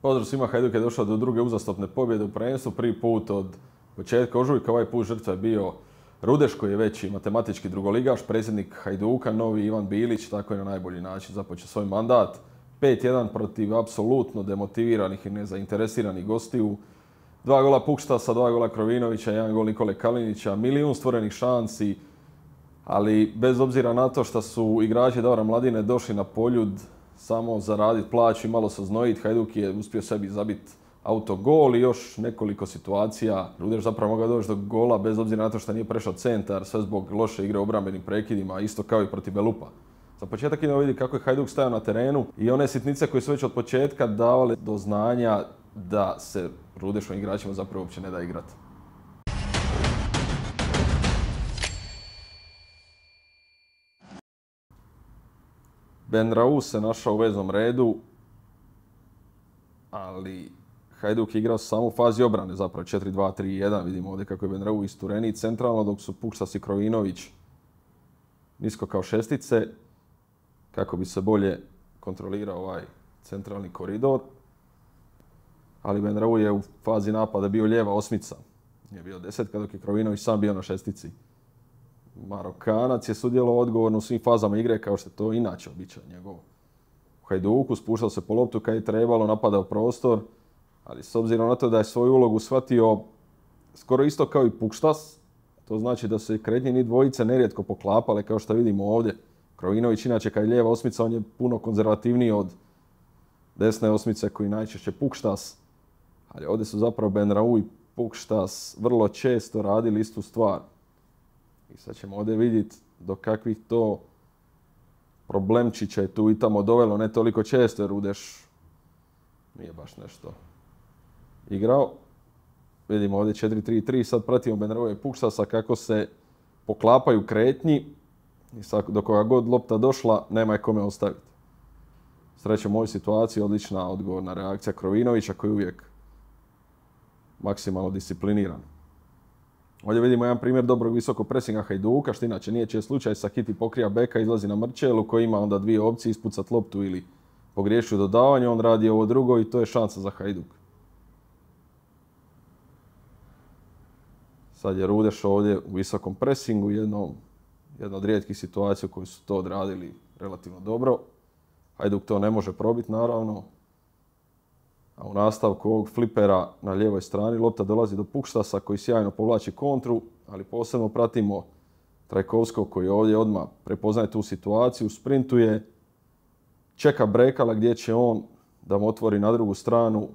Pozdrav svima, Hajduk je došao do druge uzastopne pobjede u prvenstvu. Prvi put od početka ožujka, ovaj put žrtva je bio Rudeš koji je veći matematički drugoligaš, predsjednik Hajduka, novi Ivan Bilić, tako je na najbolji način započeo svoj mandat. 5-1 protiv apsolutno demotiviranih i nezainteresiranih gostiju. 2 gola Pukštasa, 2 gola Krovinovića, 1 gol Nikole Kalinića, milijun stvorenih šansi, ali bez obzira na to što su igrači Davora Mladine došli na Poljud samo zaraditi plaću i malo se oznojiti, Hajduk je uspio sebi zabiti autogol i još nekoliko situacija. Rudeš zapravo mogao doći do gola bez obzira na to što nije prešao centar, sve zbog loše igre u obrambenim prekidima, isto kao i protiv Belupa. Za početak idemo vidjeti kako je Hajduk stajao na terenu i one sitnice koje su već od početka davale do znanja da se Rudešovim igračima zapravo uopće ne da igrati. Benraou se našao u veznom redu, ali Hajduk je igrao samo u fazi obrane, zapravo 4-2-3-1. Vidimo ovdje kako je Benraou istureniji centralno, dok su Pukštas i Krovinović nisko kao šestice, kako bi se bolje kontrolirao ovaj centralni koridor. Ali Benraou je u fazi napada bio lijeva osmica, nije bio desetka, dok je Krovinović sam bio na šestici. Marokanac je sudjelovao odgovorno u svim fazama igre, kao što je to inače običaj njegov. U Hajduku spuštao se po loptu kad je trebalo, napadao prostor, ali s obzirom na to da je svoju ulogu shvatio skoro isto kao i Pukštas, to znači da se kretnje dvojice nerijetko poklapale, kao što vidimo ovdje. Krovinović inače kad je lijeva osmica, on je puno konzervativniji od desne osmice koji najčešće Pukštas, ali ovdje su zapravo Benraou i Pukštas vrlo često radili istu stvar. I sad ćemo ovdje vidjeti do kakvih to problemčića je tu i tamo dovelo, ne toliko često jer Rudeš nije baš nešto igrao. Vidimo ovdje 4-3-3, sad pratimo Benraoua i Pukštasa kako se poklapaju kretnji i sad do koga god lopta došla nema je kome ostaviti. Srećom u ovoj situaciji odlična odgovorna reakcija Krovinovića koji je uvijek maksimalno discipliniran. Ovdje vidimo jedan primjer dobrog visokog presinga Hajduka, što inače nije čest slučaj. Sakiti pokrija beka, izlazi na Mrčelu koji ima onda dvije opcije, ispucat loptu ili pogriješi u dodavanju. On radi ovo drugo i to je šansa za Hajduk. Sad je Rudeš ovdje u visokom presingu, jedna od rijetkih situacija u kojoj su to odradili relativno dobro. Hajduk to ne može probiti naravno. A u nastavku ovog flipera na lijevoj strani lopta dolazi do Pukštasa koji sjajno povlači kontru, ali posebno pratimo Trajkovskog koji ovdje odmah prepoznaje tu situaciju, sprintuje, čeka Brekala gdje će on da mu otvori na drugu stranu.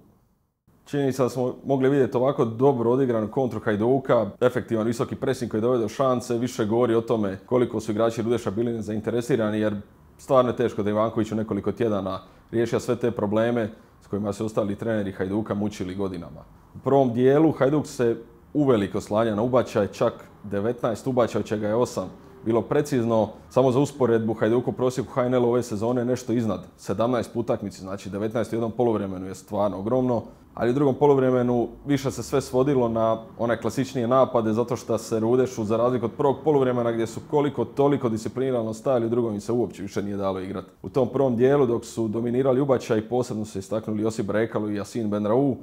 Činjenica da smo mogli vidjeti ovako dobro odigranu kontru Hajduka, efektivan visoki presing koji dovede do šanse, više govori o tome koliko su igrači Rudeša bili nezainteresirani jer stvarno je teško da Ivanković u nekoliko tjedana riješio sve te probleme s kojima su ostali treneri Hajduka mučili godinama. U prvom dijelu Hajduk se uveliko oslanja na ubačaj, čak 19 ubačaja, od čega je 8 bilo precizno. Samo za usporedbu Hajduku prosjeku HNL ove sezone nešto iznad 17 po utakmici, znači 19 u jednom poluvremenu je stvarno ogromno. Ali u drugom poluvremenu više se sve svodilo na one klasičnije napade zato što se Rudešu, za razliku od prvog poluvremena gdje su koliko toliko disciplinirano stajali, u drugom im se uopće više nije dalo igrati. U tom prvom dijelu dok su dominirali ubačaj, posebno se istaknuli Josip Brekalo i Yasin Benraou,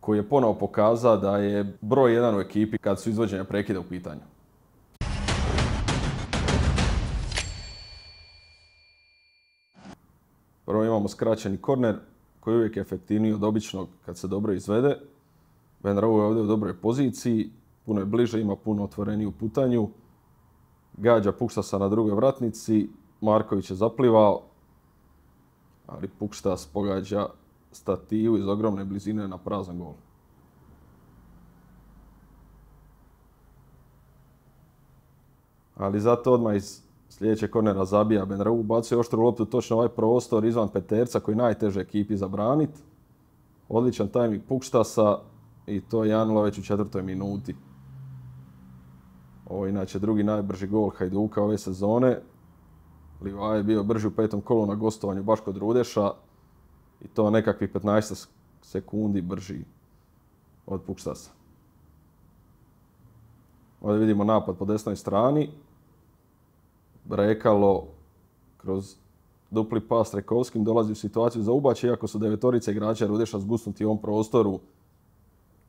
koji je ponovo pokazao da je broj 1 u ekipi kad su izvođenja prekida u pitanju. Prvo imamo skraćeni korner koji je uvijek efektivniji od običnog kad se dobro izvede. Benraou je ovdje u dobroj poziciji, puno je bliže, ima puno otvoreniju putanju. Gađa Pukštasa na drugoj vratnici, Marković je zaplivao, ali Pukštas pogađa stativu iz ogromne blizine na prazan gol. Ali zato odmah iz sljedećeg kornera zabija Benraou, bacuje oštru loptu točno ovaj prostor izvan peterca koji je najteže ekipi zabraniti. Odličan tajming Pukštasa i to je 1-0 već u 4. minuti. Ovo je inače drugi najbrži gol Hajduka ove sezone. Livaja je bio brži u 5. kolu na gostovanju baš kod Rudeša i to nekakvih 15 sekundi brži od Pukštasa. Ovdje vidimo napad po desnoj strani. Brekalo kroz dupli pas Trajkovskim dolazi u situaciju za ubačaj, iako su devetorice igrača Rudeša zgusnuti u ovom prostoru.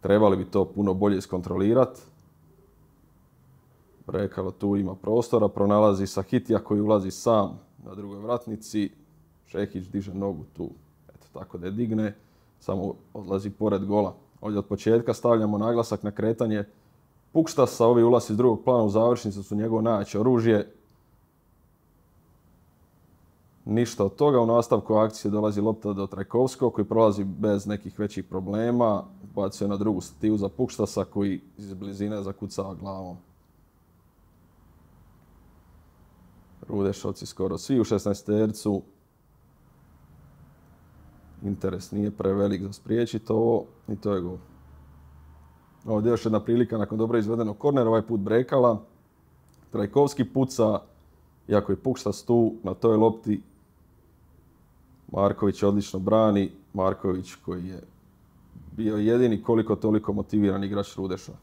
Trebali bi to puno bolje iskontrolirati. Brekalo tu ima prostora, pronalazi Sahitija koji ulazi sam na drugoj vratnici. Šehić diže nogu tu, eto tako da je digne, samo odlazi pored gola. Ovdje od početka stavljamo naglasak na kretanje Pukštasa, ovi ulazi iz drugog plana u završnicu su njegovo najjače oružje. Ništa od toga, u nastavku akcije dolazi lopta do Trajkovskog koji prolazi bez nekih većih problema. Bacuje na drugu stativu za Pukštasa koji iz blizine zakucava glavom. Rudešovci skoro svi u 16-tercu. Interes nije prevelik za spriječiti ovo i to je gol. Ovdje još jedna prilika nakon dobro izvedenog kornera, ovaj put Brekala. Trajkovski puca, iako je Pukštas tu na toj lopti. Marković odlično brani. Marković koji je bio jedini koliko toliko motiviran igrač Rudeša.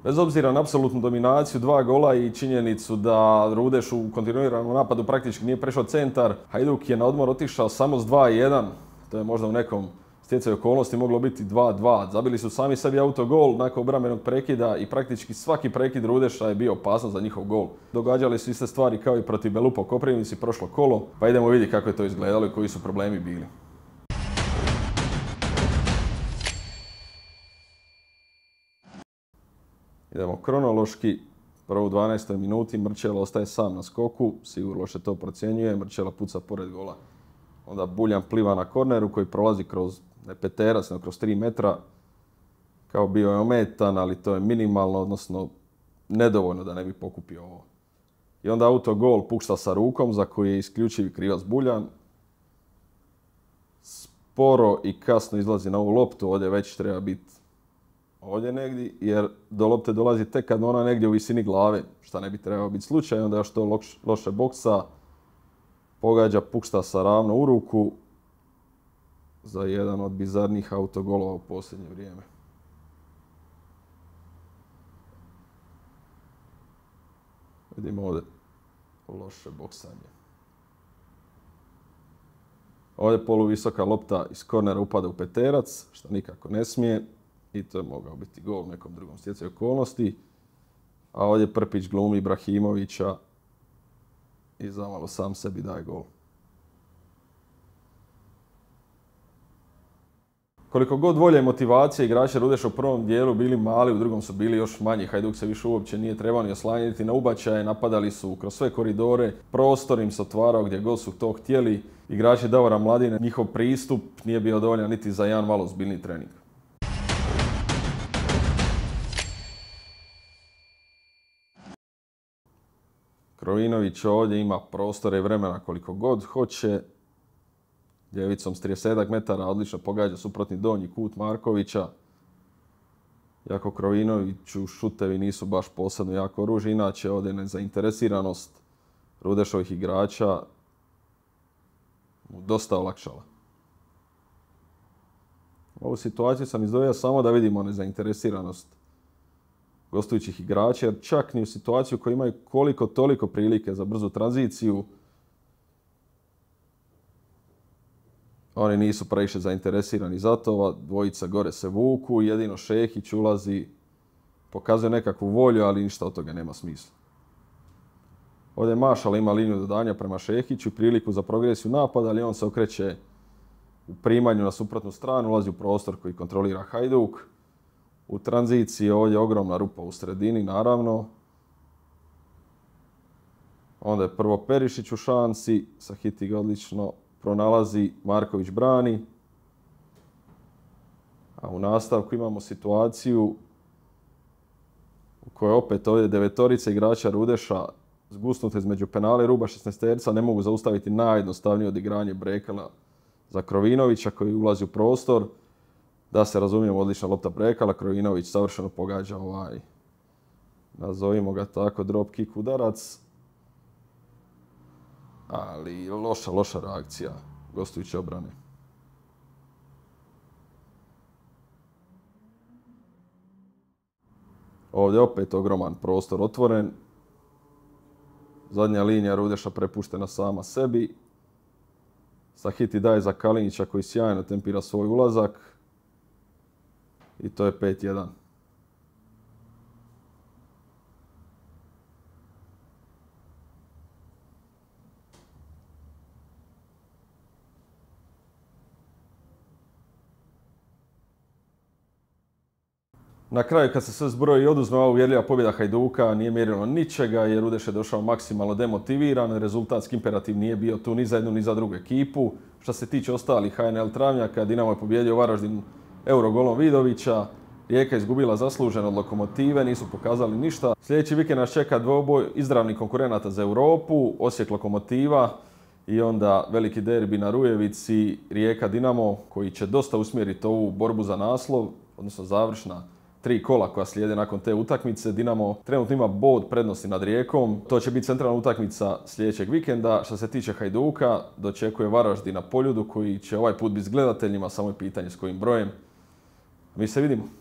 Bez obzira na apsolutnu dominaciju, 2 gola i činjenicu da Rudeš u kontinuiranom napadu praktički nije prešao centar, Hajduk je na odmor otišao samo s 2-1. To je možda u nekom stjecaju okolnosti moglo biti 2-2. Zabili su sami sebi autogol nakon obrambenog prekida i praktički svaki prekid Rudeša je bio opasan za njihov gol. Događale su iste stvari kao i protiv Belupa u Koprivnici prošlo kolo, pa idemo vidjeti kako je to izgledalo i koji su problemi bili. Idemo kronološki. Prvo u 12. minuti Mrčela ostaje sam na skoku, Sigur loše to procjenjuje, Mrčela puca pored gola. Onda Buljan pliva na korneru koji prolazi kroz, ne peterac, nego kroz 3 metra. Kao bio je ometan, ali to je minimalno, odnosno nedovoljno da ne bi pokupio ovo. I onda autogol Pukšta sa rukom za koji je isključivi krivac Buljan. Sporo i kasno izlazi na ovu loptu, ovdje već treba biti ovdje negdje, jer do lopte dolazi tek kad ona negdje u visini glave, šta ne bi trebao biti slučaj, onda još to loše boksa, pogađa Pukštasa ravno u ruku za jedan od bizarnih autogolova u posljednje vrijeme. Vidimo ovdje loše boksanje. Ovdje poluvisoka lopta iz kornera upada u peterac, što nikako ne smije. I to je mogao biti gol u nekom drugom stjecaju okolnosti. A ovdje Prpić glumi Ibrahimovića i zamalo sam sebi daje gol. Koliko god volje i motivacije igrači Rudeša u prvom dijelu bili mali, u drugom su bili još manji. Hajduk se više uopće nije trebao ni oslanjati na ubačaje, napadali su kroz sve koridore, prostor im se otvarao gdje god su to htjeli. Igrači Davora Mladine, njihov pristup nije bio dovoljan niti za jedan malo ozbiljniji trening. Krovinović ovdje ima prostora i vremena koliko god hoće. Ljevicom s 30 metara odlično pogađa suprotni donji kut Markovića. Iako Krovinoviću šutevi nisu baš posebno jako oružje, inače ovdje nezainteresiranost Rudešovih igrača mu dosta olakšala. Ovu situaciju sam izdvojio samo da vidimo nezainteresiranost gostujućih igrača, jer čak ni u situaciju koji imaju koliko toliko prilike za brzu tranziciju, oni nisu previše zainteresirani za to, ova dvojica gore se vuku, jedino Šehić ulazi, pokazuje nekakvu volju, ali ništa od toga nema smisla. Ovdje Mašala ima liniju dodanja prema Šehiću, priliku za progresiju napada, ali on se okreće u primanju na suprotnu stranu, ulazi u prostor koji kontrolira Hajduk. U tranziciji ovdje je ogromna rupa u sredini, naravno. Onda je prvo Perišić u šansi, Sahiti ga odlično pronalazi, Marković brani. A u nastavku imamo situaciju u kojoj opet ovdje devetorica igrača Rudeša zgusnute između penala i ruba 16-terca ne mogu zaustaviti najjednostavnije odigranje Brekala za Krovinovića koji ulazi u prostor. Da se razumijemo, odlična lopta Brekala, Krovinović savršeno pogađa nazovimo ga tako, drop kick udarac. Ali loša reakcija gostujuće obrane. Ovdje opet ogroman prostor otvoren. Zadnja linija Rudeša prepuštena sama sebi. Sahiti daje za Kalinića koji sjajno tempira svoj ulazak. I to je 5-1. Na kraju kad se sve zbroji i oduzme ova uvjerljiva pobjeda Hajduka nije mjerilo ničega jer Rudeš je došao maksimalno demotiviran, rezultatski imperativ nije bio tu ni za jednu ni za drugu ekipu. Što se tiče ostalih HNL Travnjaka, Dinamo je pobijedio Varaždin Eurogolom Vidovića, Rijeka je izgubila zasluženo od Lokomotive, nisu pokazali ništa. Sljedeći vikend nas čeka dvoboj izravnih konkurenata za Europu, Osijek Lokomotiva i onda veliki derbi na Rujevici, Rijeka Dinamo koji će dosta usmjeriti ovu borbu za naslov, odnosno završna 3 kola koja slijede nakon te utakmice. Dinamo trenutno ima bod prednosti nad Rijekom. To će biti centralna utakmica sljedećeg vikenda. Što se tiče Hajduka, dočekuje Varaždin na Poljudu koji će ovaj put biti s gledateljima, samo je pitanje s kojim brojem. Mi se vidimo.